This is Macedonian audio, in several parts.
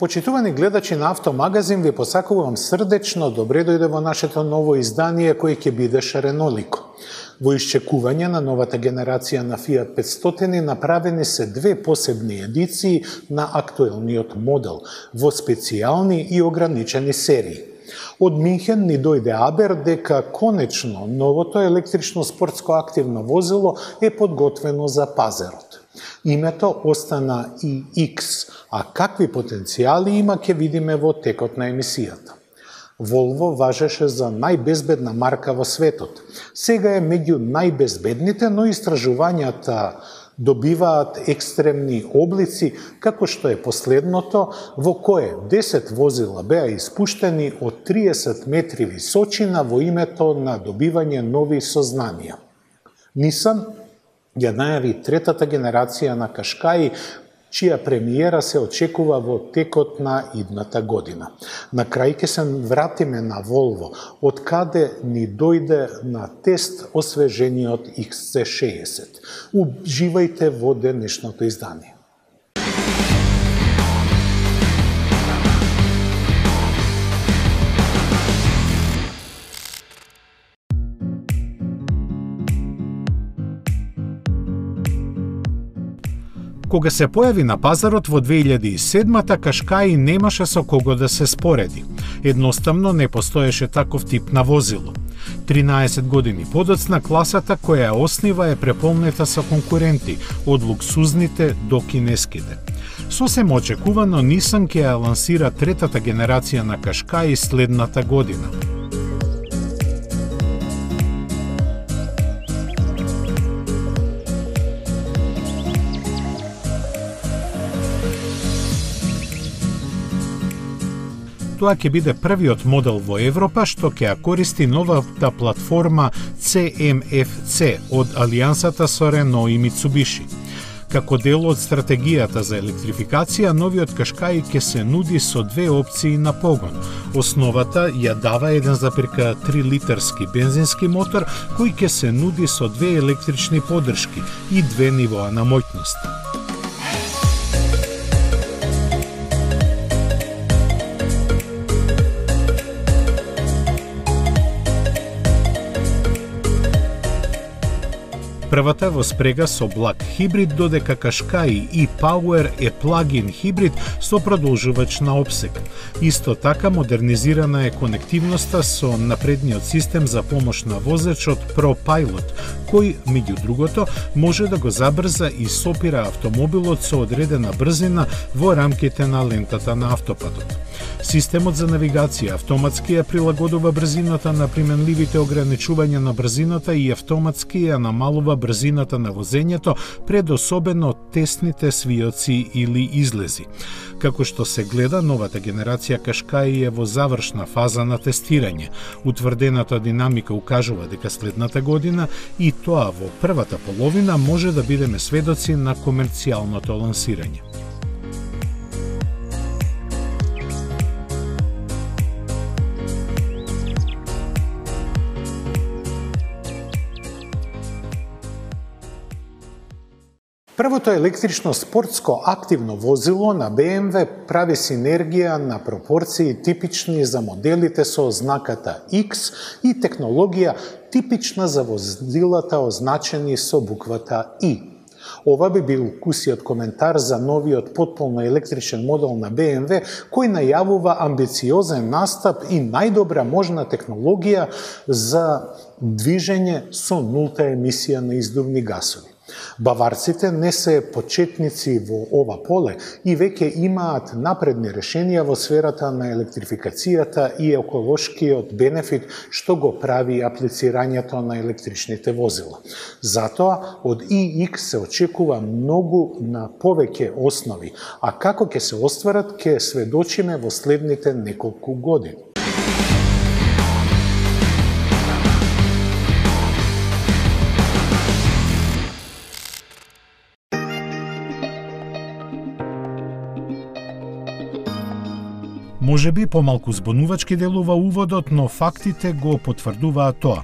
Почитувани гледачи на Автомагазин, ви посакувам срдечно добре дојде во нашето ново издание кој ќе биде шаренолико. Во исчекување на новата генерација на Fiat 500 направени се две посебни едиции на актуелниот модел во специјални и ограничени серии. Од Минхен ни дојде абер дека конечно новото електрично спортско активно возило е подготвено за пазарот. Името остана iX, а какви потенцијали има ќе видиме во текот на емисијата. Volvo важеше за најбезбедна марка во светот. Сега е меѓу најбезбедните, но истражувањата добиваат екстремни облици, како што е последното, во кое 10 возила беа испуштени од 30 метри височина во името на добивање нови сознанија. Nissan ја најави третата генерација на Qashqai, чија премиера се очекува во текот на идната година. На крај ќе се вратиме на Volvo, од каде ни дојде на тест освежениот XC60. Уживајте во денешното издание. Кога се појави на пазарот во 2007-та, Qashqai немаше со кого да се спореди. Едноставно не постоеше таков тип на возило. 13 години подоцна, класата која ја оснива е преполнета со конкуренти, од луксузните до кинеските. Сосем очекувано, Nissan ќе ја лансира третата генерација на Qashqai следната година. Тоа ќе биде првиот модел во Европа што ќе ја користи новата платформа CMF-C од алијансата со Renault и Mitsubishi. Како дел од стратегијата за електрификација, новиот Qashqai ќе се нуди со две опции на погон. Основата ја дава 1,3 литарски бензински мотор кој ќе се нуди со две електрични поддршки и две нивоа на моќност. Првата во спрега со благ хибрид, додека Qashqai e-Power е плагин хибрид со продолжувач на опсек. Исто така модернизирана е конективноста со напредниот систем за помош на возачот ProPilot, кој, меѓу другото, може да го забрза и сопира автомобилот со одредена брзина во рамките на лентата на автопатот. Системот за навигација автоматски ја прилагодува брзината на применливите ограничувања на брзината и автоматски ја намалува брзината на возењето пред особено тесните свиоци или излези. Како што се гледа, новата генерација Qashqai е во завршна фаза на тестирање. Утврдената динамика укажува дека следната година и тоа во првата половина може да бидеме сведоци на комерцијалното лансирање. Првото електрично спортско активно возило на BMW прави синергија на пропорции типични за моделите со ознаката X и технологија типична за возилата означени со буквата I. Ова би бил кусиот коментар за новиот потполно електричен модел на BMW, кој најавува амбициозен настап и најдобра можна технологија за движење со нулта емисија на издувни гасови. Баварците не се почетници во ова поле и веќе имаат напредни решенија во сферата на електрификацијата и еколошкиот бенефит што го прави аплицирањето на електричните возила. Затоа од iX се очекува многу на повеќе основи, а како ќе се остварат ќе сведочиме во следните неколку години. Можеби помалку збунувачки делува уводот, но фактите го потврдуваат тоа.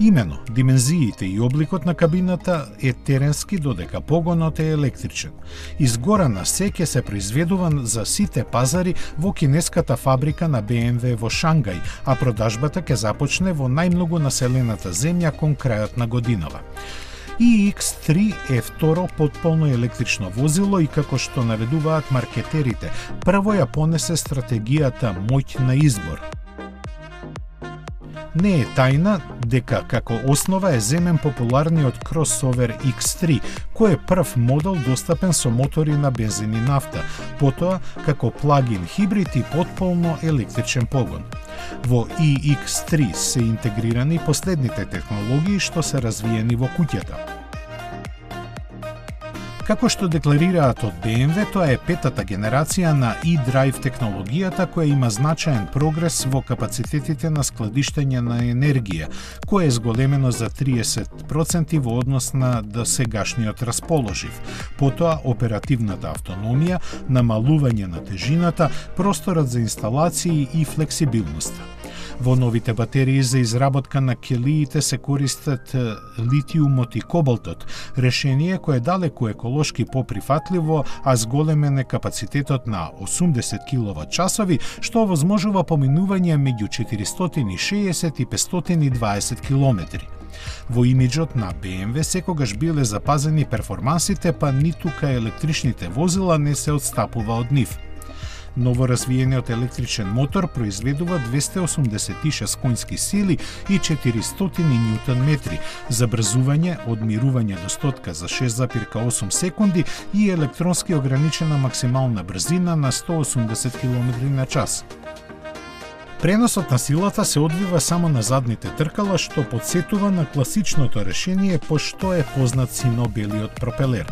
Имено, димензиите и обликот на кабината е теренски, додека погонот е електричен. Изгорана се ќе се произведува за сите пазари во кинеската фабрика на BMW во Шангај, а продажбата ќе започне во најмногу населената земја кон крајот на годинава. iX3 е второ потполно електрично возило и како што наведуваат маркетерите, прво ја понесе стратегијата моќ на избор. Не е тајна дека како основа е земен популарниот кросовер X3, кој е прв модел достапен со мотори на бензин и нафта, потоа како плагин хибрид и потполно електричен погон. Во iX3 се интегрирани последните технологии што се развиени во куќата. Како што декларираат од BMW, тоа е петата генерација на eDrive технологијата која има значаен прогрес во капацитетите на складиштење на енергија, кој е зголемено за 30% во однос на досегашниот расположив. Потоа оперативната автономија, намалување на тежината, просторот за инсталации и флексибилноста. Во новите батерии за изработка на келиите се користат литиумот и кобалтот, решение кое е далеку еколошки поприфатливо, а зголемен е капацитетот на 80 киловат-часови, што овозможува поминување меѓу 460 и 520 километри. Во имиджот на BMW секогаш биле запазени перформансите, па ниту кај електричните возила не се одстапува од нив. Новоразвиениот електричен мотор произведува 286 конски сили и 400 ньютон метри, забрзување од мирување до стотка за 6,8 секунди и електронски ограничена максимална брзина на 180 км на час. Преносот на силата се одвива само на задните тркала, што подсетува на класичното решение, пошто е познат сино-белиот пропелер.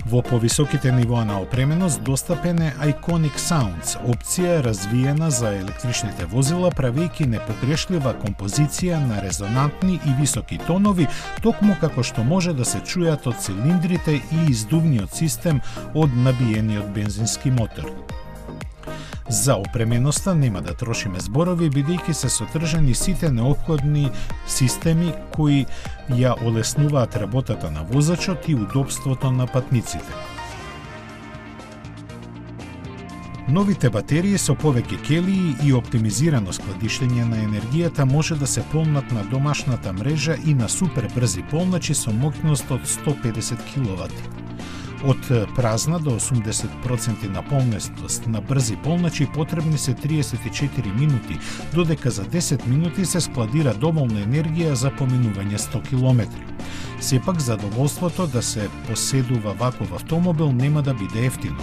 Во повисоките нивоа на опременост достапен е Iconic Sounds, опција развиена за електричните возила, правејќи непогрешлива композиција на резонантни и високи тонови, токму како што може да се чујат од цилиндрите и издувниот систем од набиениот бензински мотор. За опременоста нема да трошиме зборови, бидејќи се содржани сите неопходни системи кои ја олеснуваат работата на возачот и удобството на патниците. Новите батерии со повеќе келии и оптимизирано складиштење на енергијата може да се полнат на домашната мрежа и на супер брзи полначи со моќност од 150 кВт. Од празна до 80% наполненост на брзи полначи потребни се 34 минути, додека за 10 минути се складира доволна енергија за поминување 100 км. Сепак задоволството да се поседува ваков автомобил нема да биде ефтино.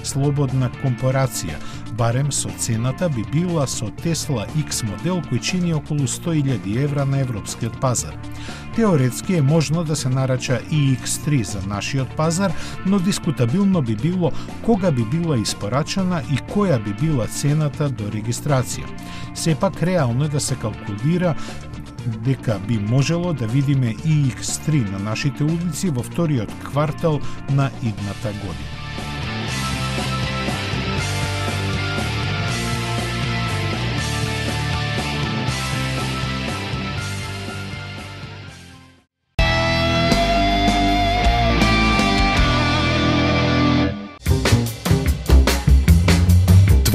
Слободна компарација, барем со цената би била со Tesla X модел кој чини околу 100.000 евра на европскиот пазар. Теоретски е можно да се нарача iX3 за нашиот пазар, но дискутабилно би било кога би била испорачана и која би била цената до регистрација. Сепак реално е да се калкулира дека би можело да видиме iX3 на нашите улици во вториот квартал на идната година.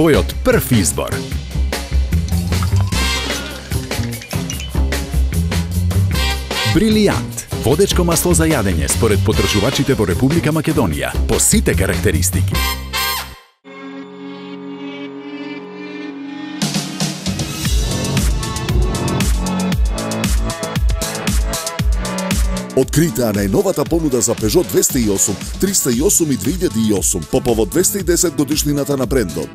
Твојот прв избор. Брилијант. Водечко масло за јадење според потрошувачите во Република Македонија, по сите карактеристики. Открита најновата понуда за Peugeot 208, 308 и 2008 по повод 210 годишнината на брендот.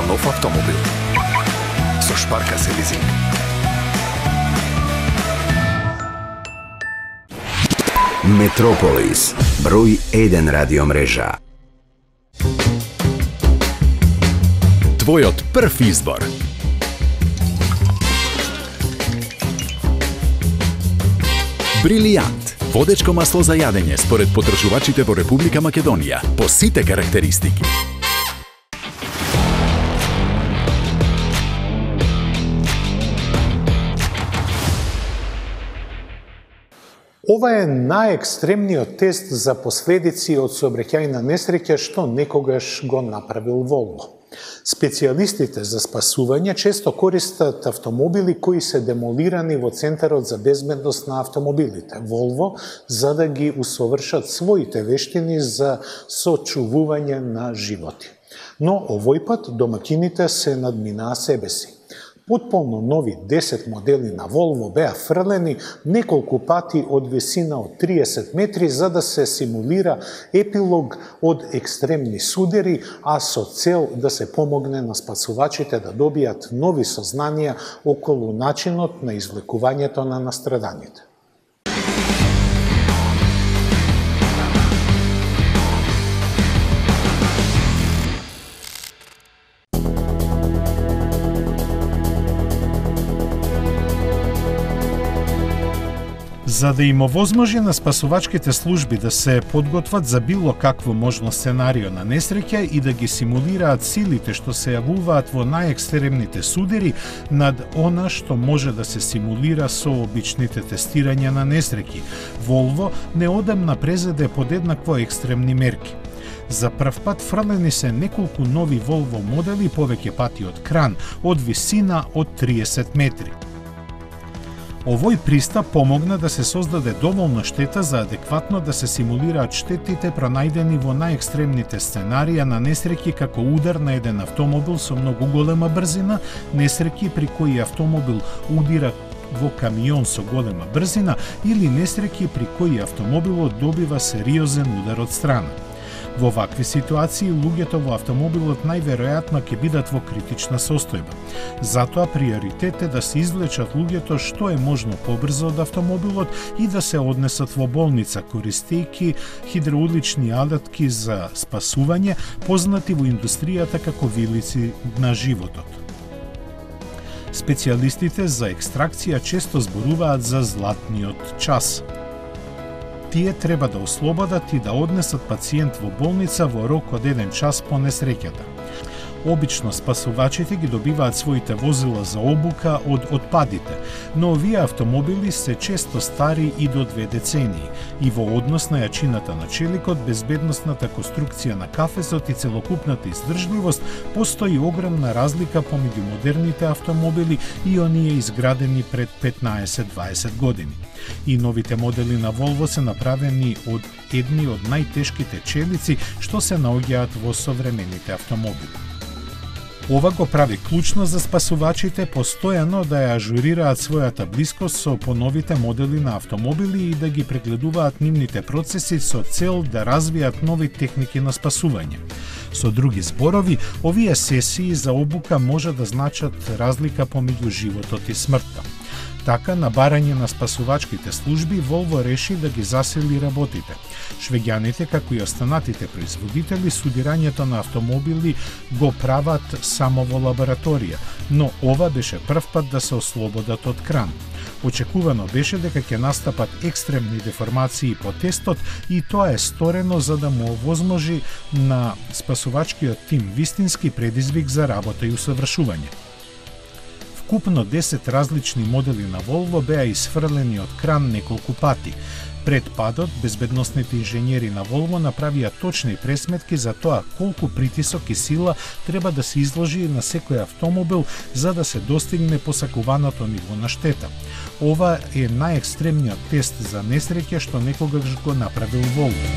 нов автомобил. Со Шпарка се лизинг. Метрополис, број 1 радиомрежа. Твојот прв избор. Брилијант. Водечко масло за јадење според потржувачите во Република Македонија по сите карактеристики. Ова е најекстремниот тест за последици од сообраќајна несреќа што некогаш го направил Волво. Специјалистите за спасување често користат автомобили кои се демолирани во Центарот за безбедност на автомобилите, Волво, за да ги усовршат своите вештини за сочувување на животи. Но овој пат домакините се надминаа себе си. Потполно нови 10 модели на Волво беа фрлени неколку пати од висина од 30 метри за да се симулира епилог од екстремни судери, а со цел да се помогне на спасувачите да добијат нови сознанија околу начинот на извлекувањето на настраданите. За да им овозможи на спасувачките служби да се подготват за било какво можно сценарио на несреќа и да ги симулираат силите што се јавуваат во најекстремните судери над она што може да се симулира со обичните тестирања на несреќи, Волво неодамна презеде подеднакво екстремни мерки. За прв пат фрлени се неколку нови Волво модели повеќе пати од кран, од висина од 30 метри. Овој пристап помогна да се создаде доволно штета за адекватно да се симулираат штетите пронајдени во најекстремните сценарија на несреќи како удар на еден автомобил со многу голема брзина, несреќи при кои автомобил удира во камион со голема брзина или несреќи при кои автомобилот добива сериозен удар од страна. Во вакви ситуации, луѓето во автомобилот најверојатно ќе бидат во критична состојба. Затоа приоритет е да се извлечат луѓето што е можно побрзо од автомобилот и да се однесат во болница, користејќи хидроулични алатки за спасување, познати во индустријата како вилици на животот. Специјалистите за екстракција често зборуваат за златниот час. Тие треба да ослободат и да однесат пациент во болница во рок од 1 час по несреќата. Обично спасувачите ги добиваат своите возила за обука од отпадите, но овие автомобили се често стари и до 2 децении и во однос на јачината на челикот, безбедносната конструкција на кафезот и целокупната издржливост, постои огромна разлика помеѓу модерните автомобили и оние изградени пред 15-20 години. И новите модели на Волво се направени од едни од најтешките челици што се наоѓаат во современите автомобили. Ова го прави клучно за спасувачите постојано да ја ажурираат својата блискост со поновите модели на автомобили и да ги прегледуваат нивните процеси со цел да развијат нови техники на спасување. Со други зборови, овие сесии за обука може да значат разлика помеѓу животот и смртта. Така, на барање на спасувачките служби, Волво реши да ги засили работите. Швеѓаните, како и останатите производители, судирањето на автомобили го прават само во лабораторија, но ова беше прв пат да се ослободат од кран. Очекувано беше дека ќе настапат екстремни деформации по тестот и тоа е сторено за да му овозможи на спасувачкиот тим вистински предизвик за работа и усовршување. Вкупно 10 различни модели на Волво беа исфрлени од кран неколку пати. Пред падот, безбедносните инженери на Волво направија точни пресметки за тоа колку притисок и сила треба да се изложи на секој автомобил за да се достигне посакуваното ниво на штета. Ова е најекстремниот тест за несреќа што некогаш го направил Волво.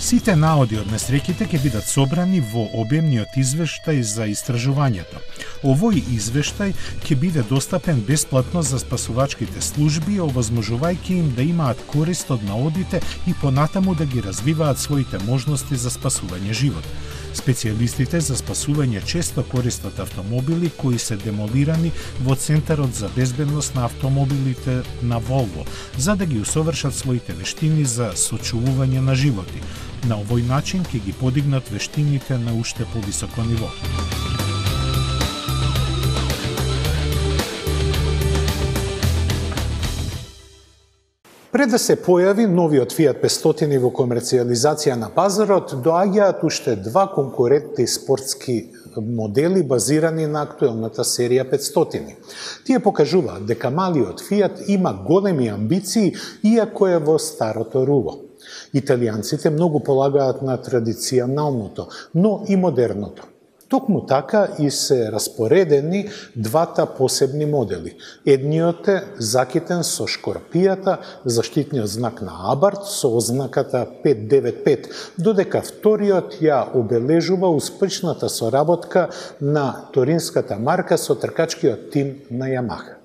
Сите наоди од несреќите ќе бидат собрани во обемниот извештај за истражувањето. Овој извештај ќе биде достапен бесплатно за спасувачките служби, овозможувајќи им да имаат корист од наодите и понатаму да ги развиваат своите можности за спасување живот. Специјалистите за спасување често користат автомобили кои се демолирани во Центарот за безбедност на автомобилите на Волво, за да ги усовршат своите вештини за сочувување на животи. На овој начин ќе ги подигнат вештините на уште повисоко ниво. Пред да се појави новиот Fiat 500 во комерцијализација на пазарот, доаѓаат уште два конкурентни спортски модели базирани на актуелната серија 500. Тие покажуваат дека малиот Fiat има големи амбиции, иако е во старото руво. Италијанците многу полагаат на традиционалното, но и модерното. Токму така и се распоредени двата посебни модели. Едниот е закитен со шкорпијата, заштитниот знак на Абарт со ознаката 595, додека вториот ја обележува успешната соработка на торинската марка со тркачкиот тим на Ямаха.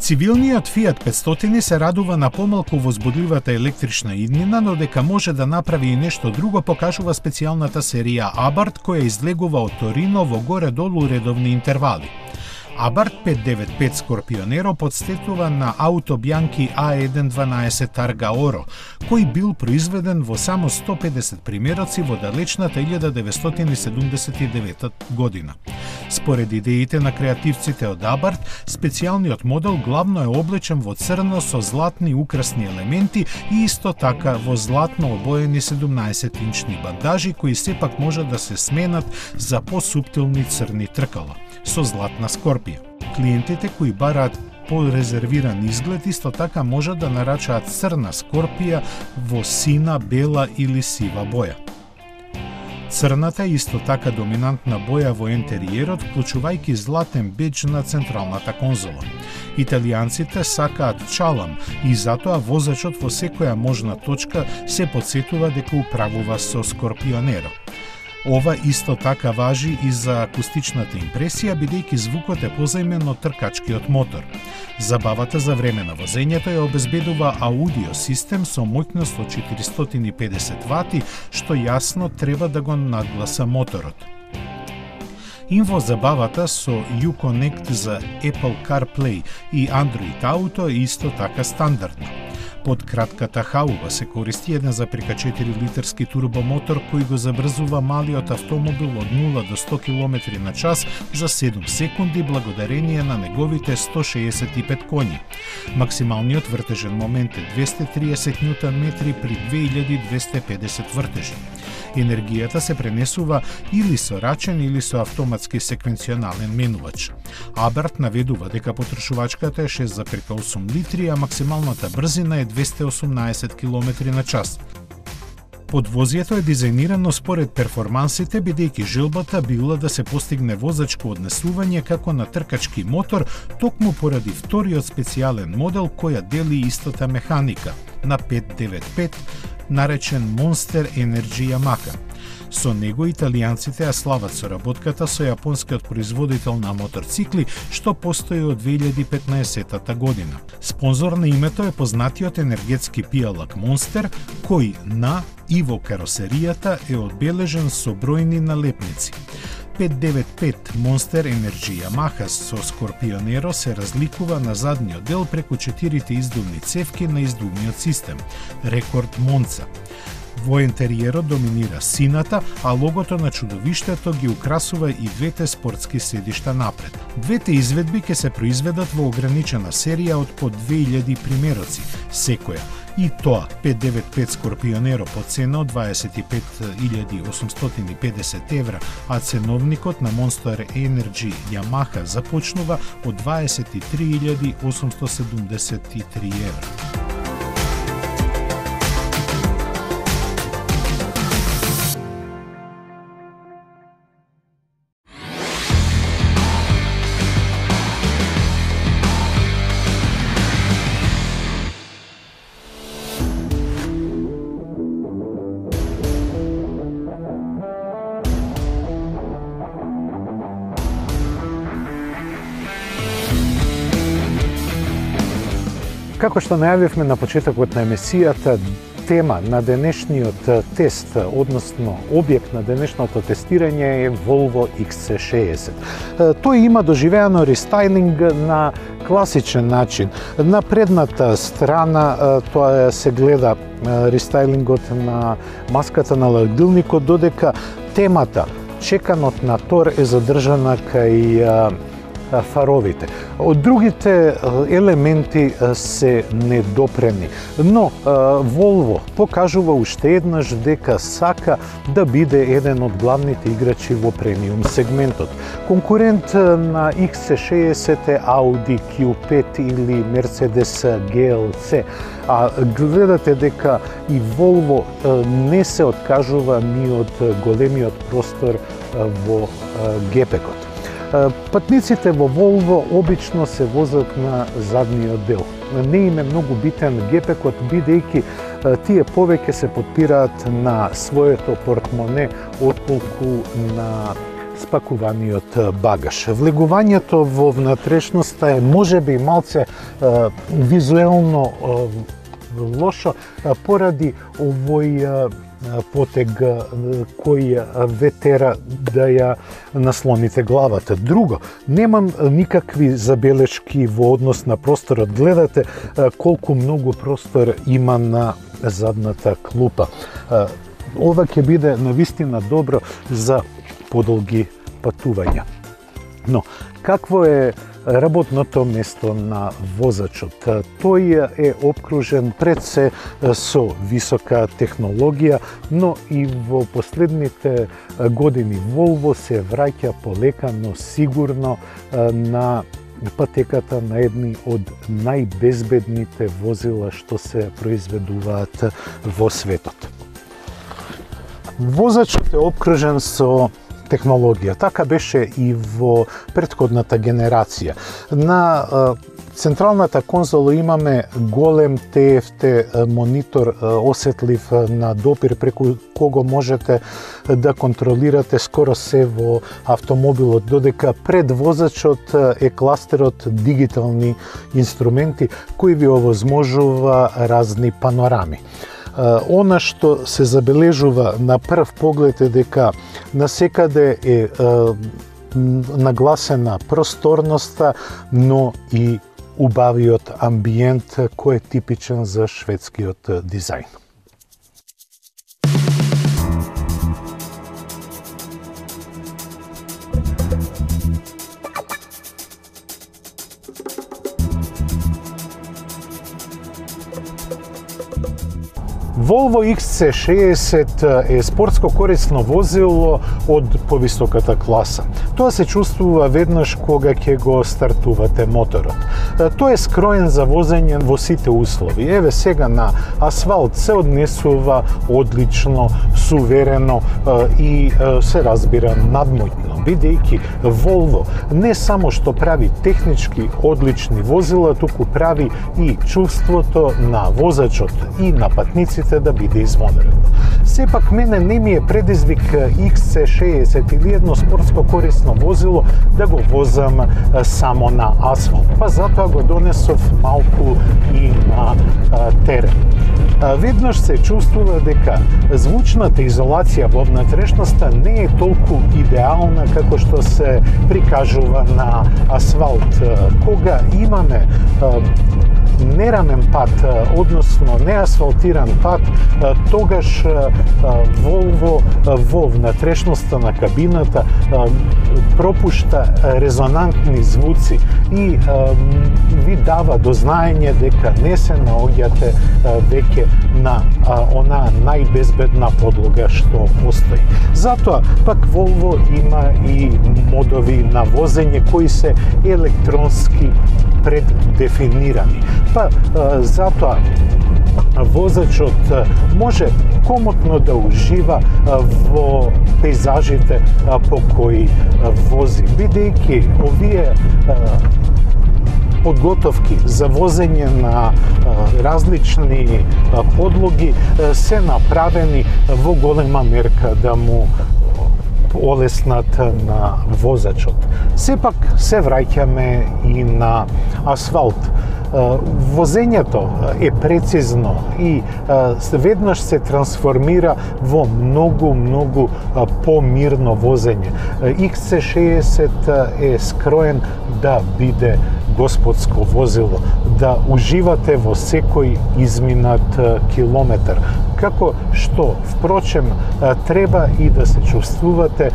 Цивилниот Fiat 500 се радува на помалку возбудливата електрична иднина, но дека може да направи и нешто друго покажува специјалната серија Абарт која излегува од Торино во горе-долу редовни интервали. Абарт 595 Скорпионеро подстетува на Auto Bianchi A112 Targa Oro, кој бил произведен во само 150 примероци во далечната 1979 година. Според идеите на креативците од Абарт, специјалниот модел главно е облечен во црно со златни украсни елементи и исто така во златно обоени 17-инчни бандажи кои сепак може да се сменат за посуптилни црни тркала со златна скорпија. Клиентите кои бараат порезервиран изглед исто така може да нарачаат црна скорпија во сина, бела или сива боја. Црната е исто така доминантна боја во ентериерот, вклучувајќи златен бедж на централната конзола. Италијанците сакаат чалам и затоа возачот во секоја можна точка се потсетува дека управува со Скорпионеро. Ова исто така важи и за акустичната импресија, бидејќи звукот е позајмен од тркачкиот мотор. Забавата за време на возењето ја обезбедува аудио систем со моќност од 450 вати, што јасно треба да го надгласа моторот. Инфо забавата со Uconnect за Apple CarPlay и Android Auto е исто така стандардно. Под кратката хауба се користи 1,4 литерски турбомотор кој го забрзува малиот автомобил од 0 до 100 км на час за 7 секунди благодарение на неговите 165 коњи. Максималниот вртежен момент е 230 Нм при 2250 вртежи. Енергијата се пренесува или со рачен или со автоматски секвенционален менувач. Абарт наведува дека потрошувачката е 6,8 литри, а максималната брзина е 218 км на час. Подвозјето е дизајнирано според перформансите, бидејќи желбата била да се постигне возачко однесување како на тркачки мотор, токму поради вториот специјален модел која дели истата механика на 595, наречен Monster Energy Yamaha. Со него италијанците ја слават соработката со јапонскиот производител на моторцикли, што постои од 2015 година. Спонзор на името е познатиот енергетски пијалак Monster, кој на и во каросеријата е одбележен со бројни налепници. 595 Monster Energy Yamaha со Скорпионеро се разликува на задниот дел преку 4 издувни цевки на издувниот систем, Рекорд Монца. Во ентериерот доминира сината, а логото на чудовиштето ги украсува и двете спортски седишта напред. Двете изведби ќе се произведат во ограничена серија од по 2000 примероци, секоја. И тоа 595 Скорпионеро по цена од 25.850 евра, а ценовникот на Monster Energy Yamaha започнува од 23.873 евра. Како што најавивме на почетокот на емисијата, тема на денешниот тест, односно објект на денешното тестирање е Volvo XC60. Тој има доживеано рестайлинг на класичен начин. На предната страна тоа се гледа рестайлингот на маската на ладилникот, додека темата чеканот на Тор е задржана кај фаровите. Од другите елементи се недопрени, но Volvo покажува уште еднаш дека сака да биде еден од главните играчи во премиум сегментот. Конкурент на XC60 е Audi Q5 или Mercedes GLC, а гледате дека и Volvo не се откажува ни од големиот простор во гепекот. Патниците во Volvo обично се возат на задниот дел. Не им е многу битен гепекот, бидејќи тие повеќе се подпираат на своето портмоне отколку на спакуваниот багаж. Влегувањето во внатрешноста е можеби малце визуелно лошо поради овој потег кој ве тера да ја наслоните главата. Друго, немам никакви забелешки во однос на просторот. Гледате колку многу простор има на задната клупа. Ова ќе биде навистина добро за подолги патувања. Но, какво е работното место на возачот? Тој е обкружен пред се со висока технологија, но и во последните години Volvo се враќа полека, но сигурно на патеката на едни од најбезбедните возила што се произведуваат во светот. Возачот е обкружен со технологија. Така беше и во претходната генерација. На централната конзола имаме голем TFT монитор осетлив на допир, преку кого можете да контролирате скоро се во автомобилот, додека пред возачот е кластерот дигитални инструменти кои ви овозможува разни панорами. Она што се забележува на прв поглед е дека насекаде е нагласена просторноста, но и убавиот амбиент кој е типичен за шведскиот дизајн. Volvo XC60 е спортско корисно возило од повисоката класа. Тоа се чувствува веднаш кога ќе го стартувате моторот. Тој е скроен за возење во сите услови. Еве сега на асфалт се однесува одлично, суверено и се разбира надмоќно, бидејќи Volvo не само што прави технички одлични возила, туку прави и чувството на возачот и на патниците да биде извонредно. Сепак мене не ми е предизвик XC60 или едно спортско корисно возило да го возам само на асфалт, па затоа го донесов малку и на терен. Веднаш се чувствува дека звучната изолација во внатрешноста не е толку идеална како што се прикажува на асфалт. Кога имаме нерамен пат, односно неасфалтиран пат, тогаш Volvo во внатрешноста на кабината пропушта резонантни звуци и ви дава до знаење дека не се наоѓате веќе на онаа најбезбедна подлога што постои. Затоа пак Volvo има и модови на возење кои се електронски преддефинирани. Па затоа возачот може комотно да ужива во пейзажите по кои вози, бидејќи овие подготовки за возење на различни подлоги се направени во голема мерка да му олеснат на возачот. Сепак се враќаме и на асфалт. Возењето е прецизно и веднаш се трансформира во многу помирно возење. XC60 е скроен да биде господско возило, да уживате во секој изминат километар. Како што, впрочем, треба и да се чувствувате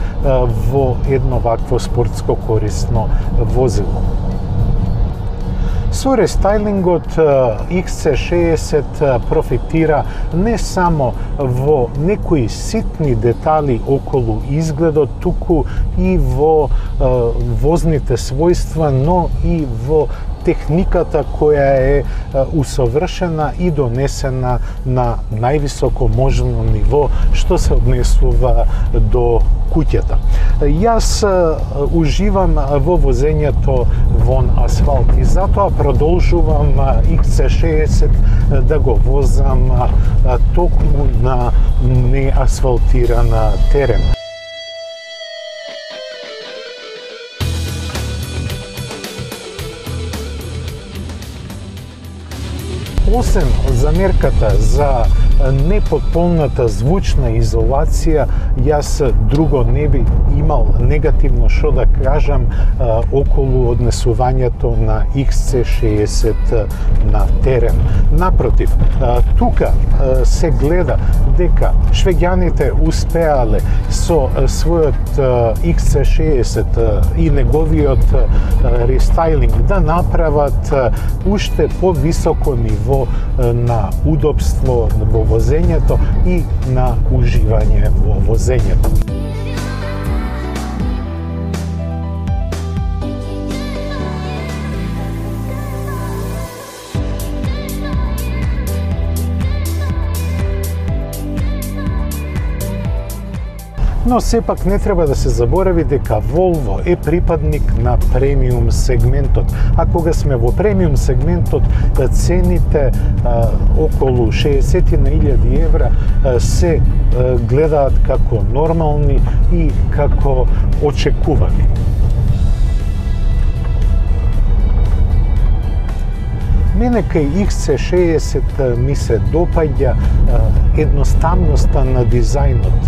во едно вакво спортско корисно возило. Со рестайлингот XC60 профитира не само во некои ситни детали околу изгледот, туку и во возните својства, но и во техниката која е усовршена и донесена на највисоко можно ниво што се однесува до куќата. Јас уживам во возењето вон асфалт и затоа продолжувам XC60 да го возам токму на неасфалтирана терен. Освен замерката за непотполната звучна изолација, јас друго не би имал негативно што да кажам околу однесувањето на XC60 на терен. Напротив, тука се гледа дека швеѓаните успеале со својот XC60 и неговиот рестайлинг да направат уште повисоко ниво на удобство во возењето и на уживање во возењето. Но сепак не треба да се заборави дека Volvo е припадник на премиум сегментот. А кога сме во премиум сегментот, цените околу 60.000 евра се гледаат како нормални и како очекувани. Мене кај XC60 ми се допаѓа едноставноста на дизајнот,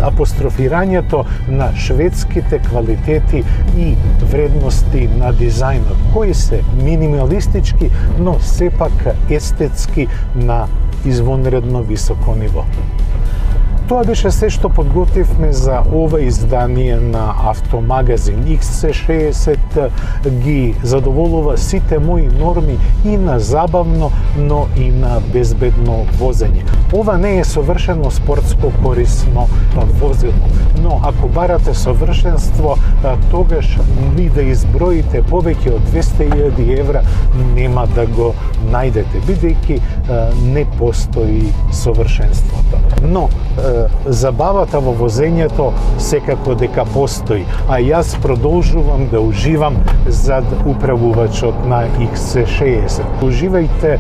апострофирањето на шведските квалитети и вредности на дизајнот, кои се минималистички, но сепак естетски на извонредно високо ниво. Тоа беше се што подготвивме за ова издание на Автомагазин. XC60 ги задоволува сите мои норми и на забавно, но и на безбедно возење. Ова не е совршено спортско корисно возило, но ако барате совршенство, тогаш ви да изброите повеќе од 200.000 евра нема да го најдете, бидејќи не постои совршенството. Но забавата во возењето секако дека постои, а јас продолжувам да уживам зад управувачот на XC60. Уживајте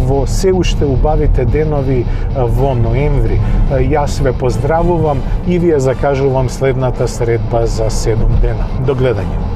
во се уште убавите денови во ноември. Јас ве поздравувам и ви ја закажувам следната средба за 7 дена. До гледање.